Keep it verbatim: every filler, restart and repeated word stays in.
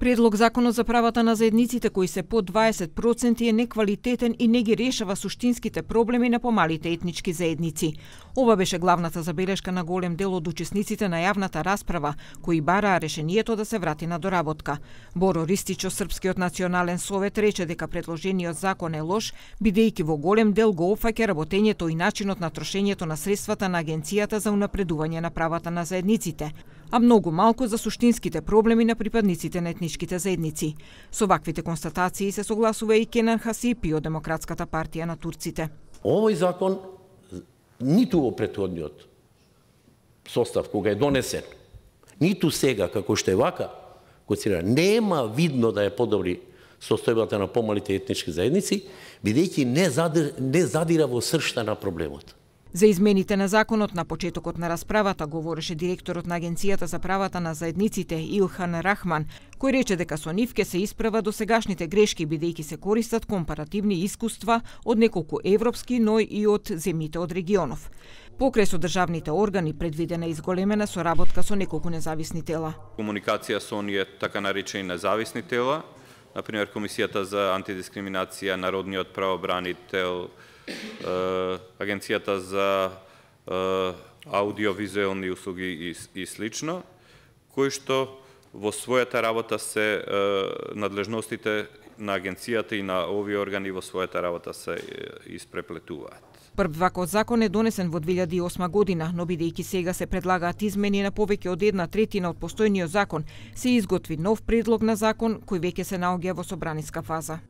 Предлог законот за правата на заедниците кои се под дваесет проценти е неквалитетен и не ги решава суштинските проблеми на помалите етнички заедници. Ова беше главната забелешка на голем дел од учесниците на јавната расправа, кои бараа решението да се врати на доработка. Боро Ристич од Српскиот национален совет рече дека предложениот закон е лош, бидејќи во голем дел го опфаќа работењето и начинот на трошењето на средствата на Агенцијата за унапредување на правата на заедниците, а многу малку за суштинските проблеми на припадниците на етничките заедници. Со ваквите констатации се согласува и Кенан Хасипи од Демократската партија на турците. Овој закон ниту во претходниот состав кога е донесен, ниту сега како што е вака, нема видно да е подобри состојбата на помалите етнички заедници, бидејќи не, задир, не задира во сршта на проблемот. За измените на законот на почетокот на расправата говореше директорот на Агенцијата за правата на заедниците Илхан Рахман, кој рече дека со нив ке се исправа до сегашните грешки бидејќи се користат компаративни искуства од неколку европски, но и од земјите од регионов. Покрај со државните органи предвидена изголемена соработка со неколку независни тела. Комуникација со оние така наречени независни тела, например Комисијата за антидискриминација, Народниот правобранител, Агенцијата за аудиовизуелни услуги и, и слично, кои што во својата работа се надлежностите на агенцијата и на овие органи во својата работа се испреплетуваат. Прв ваков закон е донесен во две илјади и осма година, но бидејќи сега се предлагаат измени на повеќе од една третина од постојниот закон, се изготви нов предлог на закон кој веќе се наоѓа во собраниска фаза.